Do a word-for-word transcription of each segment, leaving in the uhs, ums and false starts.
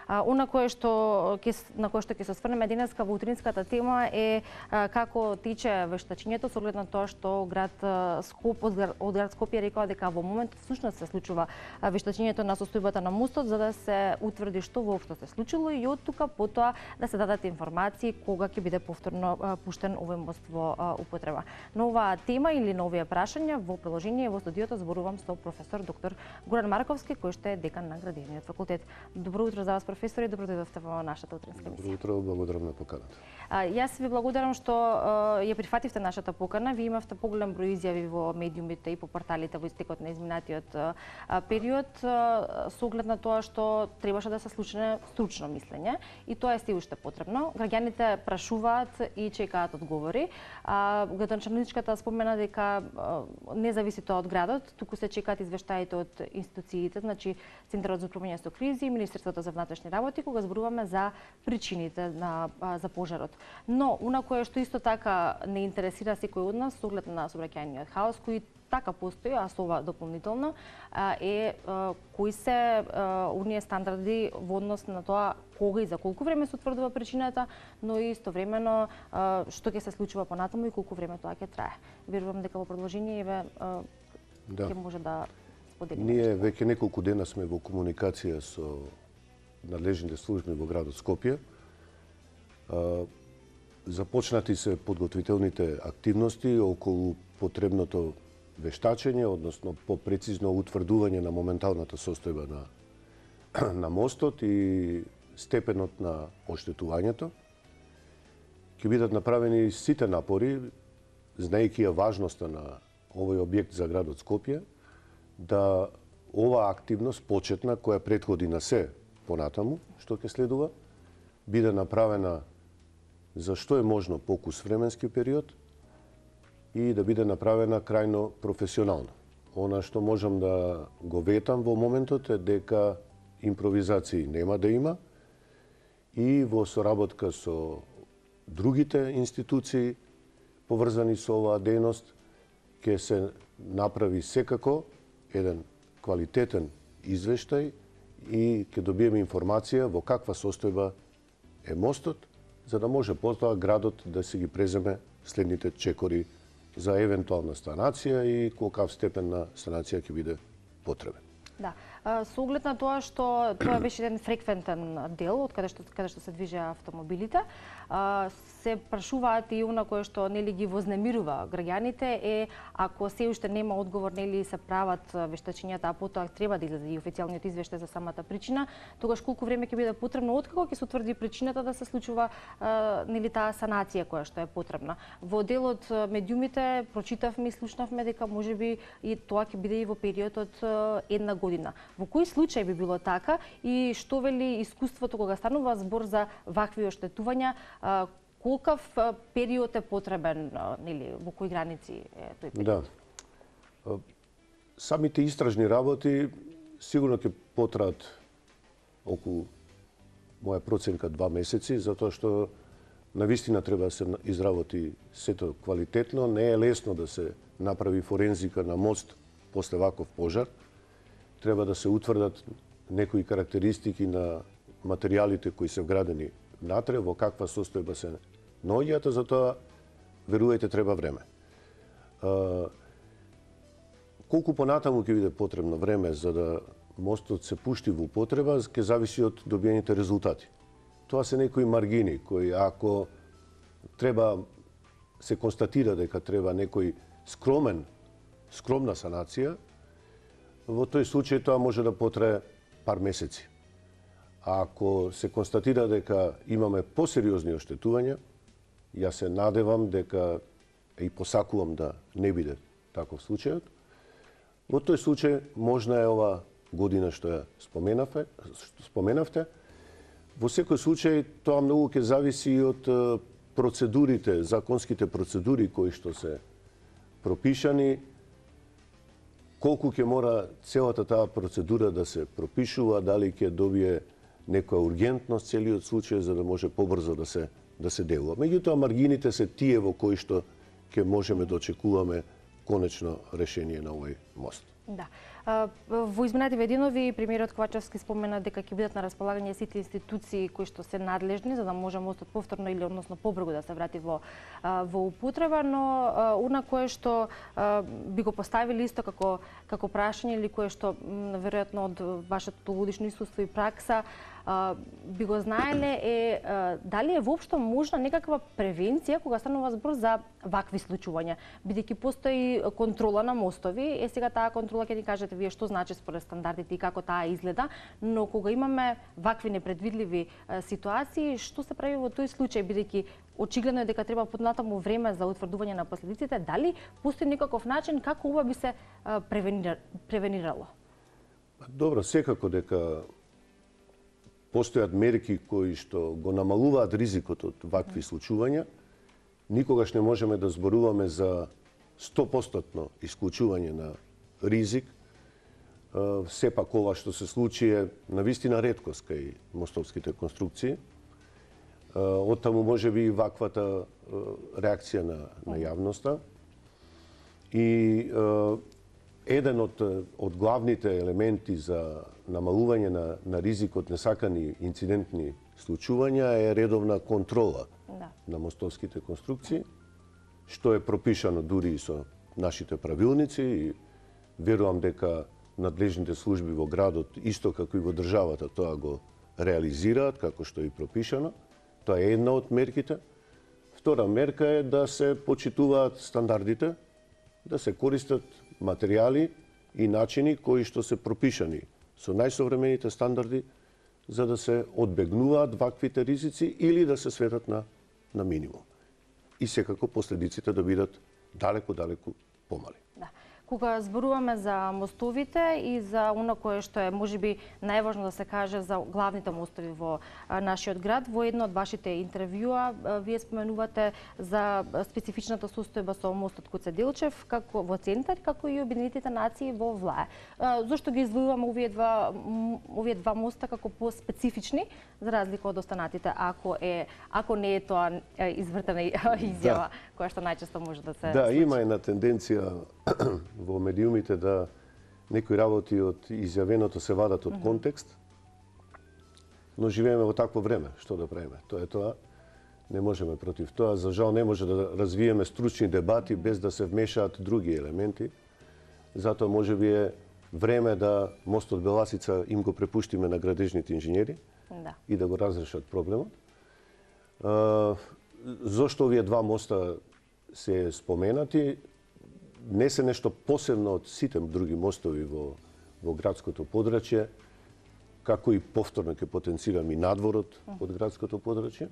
Она кое што ќе на кое што ќе се осврнеме денеска во утринската тема е како тече вештачењето со оглед на тоа што град Скоп од град Скопје рекоа дека во моментот всушност се случува вештачењето на состојбата на мостот за да се утврди што воопшто се случило и од тука потоа да се дадат информации кога ќе биде повторно пуштен овој мост во употреба. На оваа тема или на овие прашања во приложение во студиото зборувам со професор доктор Горан Марковски, кој што е декан на Градивниот факултет. Добро утро за вас, професор, и добро дојдовте во нашата утринска емисија. Добро утро, благодарам на поканата. Јас ви благодарам што ја прифативте нашата покана. Ви имавте поголем број изјави во медиумите и по порталите во истекот на изминатиот период со оглед на тоа што требаше да се случи стручно мислење и тоа е сѐ уште потребно. Граѓаните прашуваат и чекаат одговори. Градоначалничката спомена дека не зависи тоа од градот, туку се чекаат извештаите од институциите, значи Центарот за управување со кризи, Министерството за внатрешни работи, кога зборуваме за причините на за пожарот. Но она кое што исто така не интересира секој од нас со оглед на сообраќајниот хаос кој така постои, а со ова дополнително е кои се оние стандарди во однос на тоа кога и за колку време се утврдува причината, но и истовремено што ќе се случува понатаму и колку време тоа ќе трае. Верувам дека во продолжение еве ќе може да споделиме. Ние веќе неколку дена сме во комуникација со надлежните служби во градот Скопје. Започнати се подготвителните активности околу потребното вештачење, односно попрецизно утврдување на моменталната состојба на, на мостот и степенот на оштетувањето. Ќе бидат направени сите напори, знаејќи ја важноста на овој објект за градот Скопје, да оваа активност почетна, која претходи на се понатаму, што ќе следува, биде направена за што е можно покус временски период и да биде направена крајно професионално. Она што можам да го ветам во моментот е дека импровизации нема да има и во соработка со другите институции поврзани со оваа дејност ќе се направи секако еден квалитетен извештај и ќе добиеме информација во каква состојба е мостот, за да може потоа градот да се ги преземе следните чекори за евентуална станација и колкав степен на станација ќе биде потребен. Да. Со оглед на тоа што тоа беше еден фреквентен дел од каде што каде што се движеа автомобилите, се прашуваат и она кое што нели ги вознемирува граѓаните е ако се уште нема одговор нели се прават вештачењата, а потоа треба да излезе и официјалниот извештај за самата причина, тогаш колку време ќе биде потребно откако ќе се утврди причината да се случува нели таа санација која што е потребна. Во делот медиумите прочитавме и слушнавме дека можеби и тоа ќе биде и во период од една година. Во кој случај би било така и што вели искуството кога станува збор за вакви оштетувања, колкав период е потребен, нели, во кои граници е тој период? Да. Самите истражни работи сигурно ќе потраат околу моја проценка два месеци, затоа што навистина треба да се изработи сето квалитетно. Не е лесно да се направи форензика на мост после ваков пожар. Треба да се утврдат некои карактеристики на материјалите кои се вградени внатре, во каква состојба се наоѓаат, затоа верувајте треба време. А, колку понатаму ќе биде потребно време за да мостот се пушти во употреба, ќе зависи од добиените резултати. Тоа се некои маргини кои ако треба се констатира дека треба некој скромен скромна санација, во тој случај тоа може да потрае пар месеци. А ако се констатира дека имаме посериозни оштетувања, јас се надевам дека и посакувам да не биде таков случајот, во тој случај можна е ова година што ја споменавте, споменавте. Во секој случај тоа многу ќе зависи и од процедурите, законските процедури кои што се пропишани, колку ќе мора целата таа процедура да се пропишува, дали ќе добие некоја ургентност целиот случај за да може побрзо да се да се делува. Меѓутоа маргините се тие во кои што ќе можеме да очекуваме конечно решение на овој мост. Да. Во изминативе денови премиерот Ковачевски спомена дека ќе бидат на располагање сите институции кои што се надлежни за да може мостот повторно или односно побрзо да се врати во во употреба, но она кое што би го поставили исто како како прашање или кое што веројатно од вашето дugогодишно искуство и пракса би го знаеле е дали е воопшто можна некаква превенција кога станува збор за вакви случувања, бидејќи постои контрола на мостови, е сега таа контрола ќе ни кажете вие што значи според стандардите и како таа изгледа, но кога имаме вакви непредвидливи ситуации, што се прави во тој случај, бидејќи очигледно е дека треба поднатаму време за утврдување на последиците, дали постои некаков начин како ова би се превенирало? Добро, секако дека постојат мерки кои што го намалуваат ризикот од вакви случувања. Никогаш не можеме да зборуваме за сто проценти исклучување на ризик. Сепак ова што се случи е навистина реткост кај мостовските конструкции. Оттаму може би и ваквата реакција на, на јавноста. И еден од, од главните елементи за намалување на, на ризикот несакани инцидентни случувања е редовна контрола да. на мостовските конструкции, што е пропишано дури и со нашите правилници и верувам дека надлежните служби во градот, исто како и во државата, тоа го реализираат како што е и пропишано. Тоа е една од мерките. Втора мерка е да се почитуваат стандардите, да се користат материјали и начини кои што се пропишани со најсовремените стандарди за да се одбегнуваат ваквите ризици или да се сведат на, на минимум. И секако последиците да бидат далеку-далеку помали. Да. Кога зборуваме за мостовите и за оно кое што е можеби најважно да се каже за главните мостови во нашиот град, во едно од вашите интервјуа вие споменувате за специфичната состојба со мостот Гоце Делчев како во центар, како и Обединетите нации во Влае. Зошто ги издвојуваме овие два овие два моста како по-специфични за разлика од останатите, ако е ако не е тоа извртена изјава да. која што најчесто може да се Да, случи. има една тенденција во медиумите да некои работи од изјавеното се вадат од контекст, но живееме во такво време, што да правиме? Тоа е тоа, не можеме против тоа, за жал не може да развиеме стручни дебати без да се вмешаат други елементи, затоа може би е време да мостот Беласица им го препуштиме на градежните инженери да. и да го разрешат проблемот. Зошто овие два моста се споменати? Не се нешто посебно од сите други мостови во, во градското подрачје, како и повторно ќе потенцирам и надворот од градското подрачје.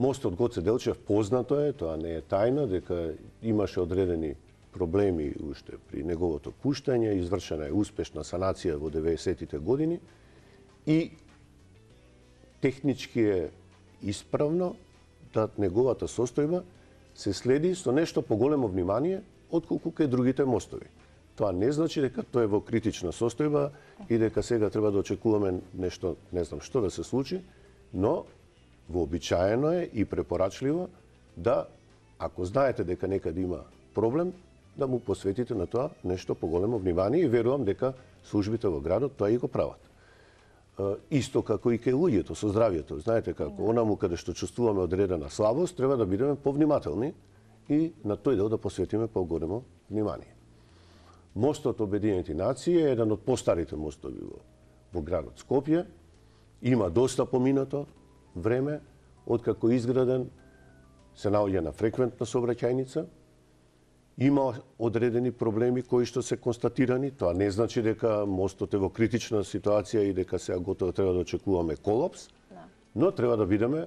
Мостот Гоце Делчев познато е, тоа не е тајна, дека имаше одредени проблеми уште при неговото пуштање, извршена е успешна санација во деветдесетите години и технички е исправно да неговата состојба се следи со нешто поголемо внимание отколку кај другите мостови. Тоа не значи дека тоа е во критична состојба и дека сега треба да очекуваме нешто, не знам што да се случи, но вообичаено е и препорачливо да, ако знаете дека некаде има проблем, да му посветите на тоа нешто поголемо внимание и верувам дека службите во градот тоа и го прават. Исто како и кај луѓето со здравјето. Знаете како, онаму каде што чувствуваме одредена слабост, треба да бидеме повнимателни и на тој дел да посветиме поголемо внимание. Мостот Обединети нации е еден од постарите мостови во, во градот Скопје. Има доста поминато време, откако изграден, се наоѓа на фреквентна сообраќајница. Има одредени проблеми кои што се констатирани. Тоа не значи дека мостот е во критична ситуација и дека сега готово треба да очекуваме колапс, да. но треба да бидеме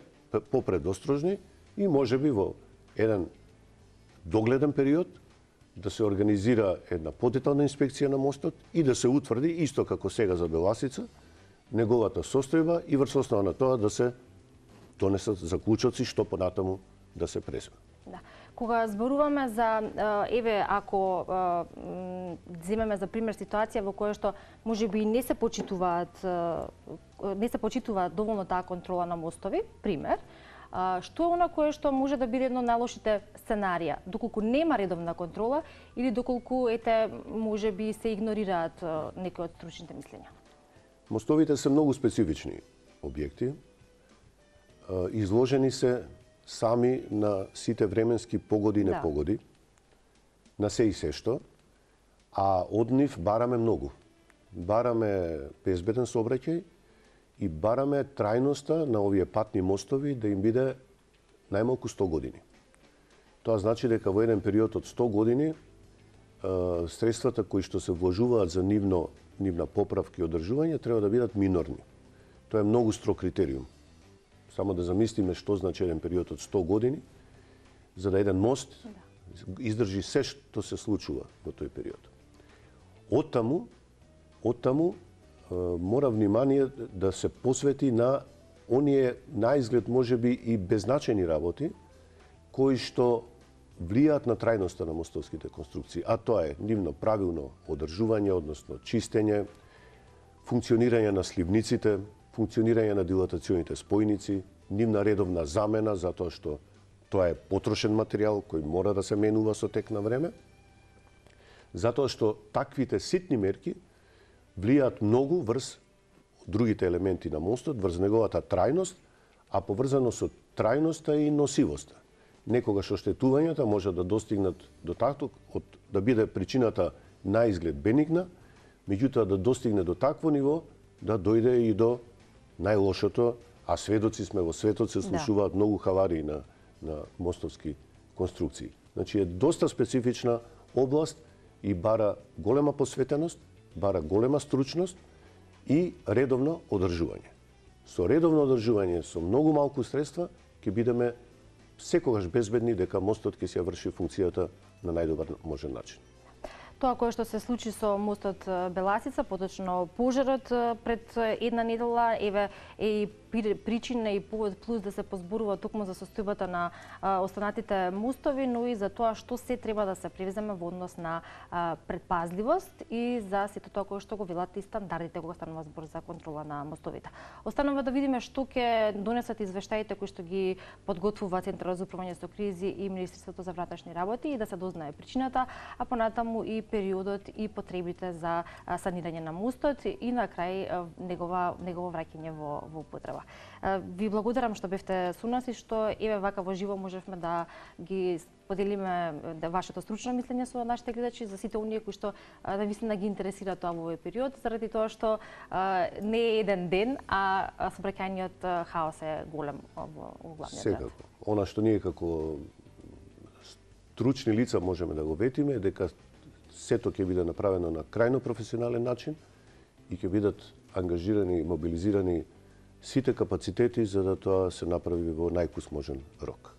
попредострожни и можеби во еден догледен период да се организира една подетална инспекција на мостот и да се утврди, исто како сега за Беласица, неговата состојба и врз основа на тоа да се донесат заклучоци што понатаму да се презме. Да. Кога зборуваме за, еве, ако земеме за пример ситуација во која што можеби не се почитуваат не се почитува доволно таа контрола на мостови, пример, Што е она кое што може да биде едно од најлошите сценарија, доколку нема редовна контрола или доколку ете може би се игнорираат некои од стручните мислења? Мостовите се многу специфични објекти. Изложени се сами на сите временски погоди и непогоди, да. На се и се што, а од нив бараме многу. Бараме безбеден сообраќај и бараме трајноста на овие патни мостови да им биде најмалку сто години. Тоа значи дека во еден период од сто години средствата кои што се вложуваат за нивно, нивна поправка и одржување треба да бидат минорни. Тоа е многу строг критериум. Само да замислиме што значи еден период од сто години, за да еден мост издржи се што се случува во тој период. Оттаму, оттаму мора внимание да се посвети на оние наизглед можеби и беззначени работи кои што влијаат на трајноста на мостовските конструкции, а тоа е нивно правилно одржување, односно чистење, функционирање на сливниците, функционирање на дилатационите спојници, нивна редовна замена затоа што тоа е потрошен материјал кој мора да се менува со тек на време, затоа што таквите ситни мерки влијаат многу врз другите елементи на мостот, врз неговата трајност, а поврзано со трајноста и носивоста. Некогаш оштетувањата може да достигнат до такво, од, да биде причината на изглед бенигна, меѓутоа да достигне до такво ниво да дојде и до најлошото, а сведоци сме во светот, се случуваат да. многу хаварии на, на мостовски конструкции. Значи е доста специфична област и бара голема посветеност, бара голема стручност и редовно одржување. Со редовно одржување, со многу малку средства, ќе бидеме секогаш безбедни дека мостот ќе се врши функцијата на најдобар можен начин. Тоа кое што се случи со мостот Беласица, поточно пожарот пред една недела, еве е и причина и повод плюс да се позборува токму за состојбата на останатите мостови, но и за тоа што се треба да се превземе во однос на предпазливост и за сето тоа кое што го велат и стандардите кога станува збор за контрола на мостовите. Останува да видиме што ќе донесат извештаите кои што ги подготвува Центарот за управување со кризи и Министерството за внатрешни работи и да се дознае причината, а понатаму и периодот и потребите за санирање на мостот и на крај негова негово враќање во во употреба. Ви благодарам што бевте со нас и што еве вака во живо можевме да ги поделиме да вашето стручно мислење со нашите гледачи, за сите оние кои што навистина ги интересира тоа во овој период, заради тоа што а, не е еден ден, а сообраќајниот хаос е голем во, во главниот град. Секако. Она што ние како стручни лица можеме да го ветиме е дека сето ќе биде направено на крајно професионален начин и ќе бидат ангажирани и мобилизирани сите капацитети за да тоа се направи во најкус можен рок.